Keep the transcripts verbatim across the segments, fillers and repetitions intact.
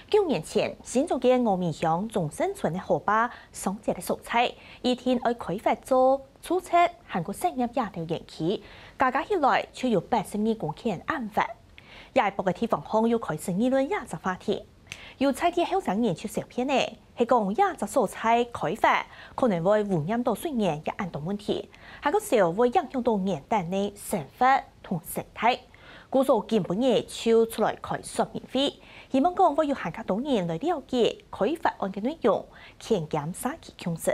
九年前，新竹縣峨眉鄉中勝村个河壩相接个所在，一定愛開發做住宅還過產業這兜園區，加加起來就有八十二公頃恁闊。這一駁个地方項又開始議論這隻話題。有在地後生人就笑騙呢，係講這隻所在開發可能會污染到水源這恁多問題，還過少會影響到原旦个生活同生態。 故所今晡日就出來開說明會，希望講會有還較多人來了解開發案个內容，牽兼社區共識。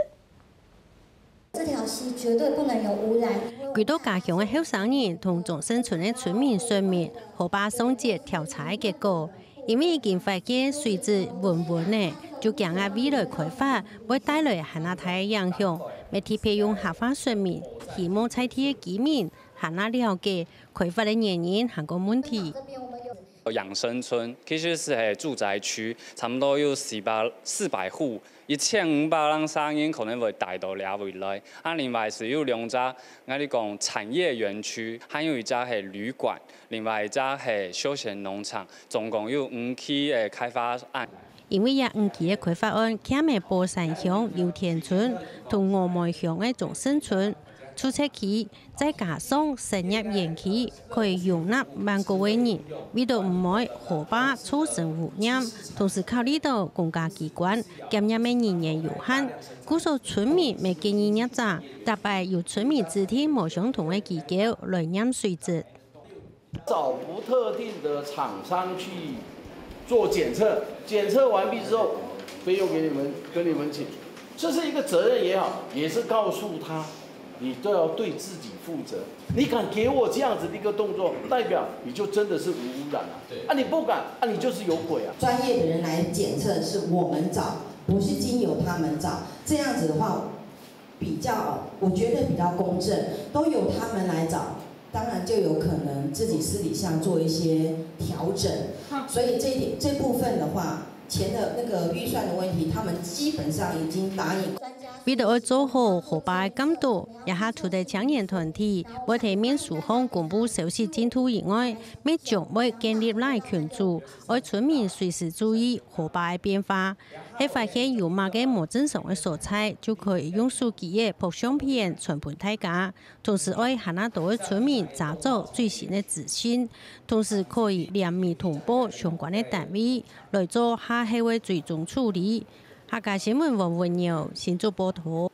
這條溪絕對不能有污染，因為歸到家鄉个後生人同中勝村个村民說明河壩相接調查个結果，因為已經發現水質溫溫呢，就驚啊未來開發會帶來還較大个影響，乜特別用客話說明，希望在地个居民還較了解 開發个原因還過問題。養生村其實是係住宅區，差不多有四百四百戶，一千五百零三人可能會帶到這位來。啊，另外係有兩隻，𠊎哋講產業園區，還有一隻係旅館，另外一隻係休閒農場，總共有五期个開發案。因為這五期个開發案，徛个寶山鄉油田村同峨眉鄉个中勝村， 住宅區，再加上產業園區，可以容納萬過个人。為到毋會河壩造成污染，同時考慮到公家機關檢驗个人員有限，故所村民乜建議業者，逐擺由村民指定無相同个機構來驗水質。 找不特定的厂商去做檢測，檢測完畢之後，費用給你們，跟你們請，這是一個責任也好，也是告訴他，你都要對自己負責。你敢給我這樣子的一個動作，代表你就真的是無污染啊。啊，你不敢，啊，你就是有鬼啊。專业的人来检测是我们找，不是经由他们找。这样子的话，比较，我觉得比较公正，都由他们来找，当然就有可能自己私底下做一些调整。所以这一点这部分的话，钱的那个预算的问题，他们基本上已经答应。为了愛做好河壩个監督，這下除了青年團體會在面書項公布消息進度以外，乜將會建立LINE群組，愛村民隨時注意河壩个變化。係發現有麼个無正常个所在，就可以用手機仔拍相片傳分大家。 同時愛還較多个村民查找最新个資訊，同時可以聯名通報相關个單位，來做下後个追蹤處理。客家新聞黃文耀，新竹報導。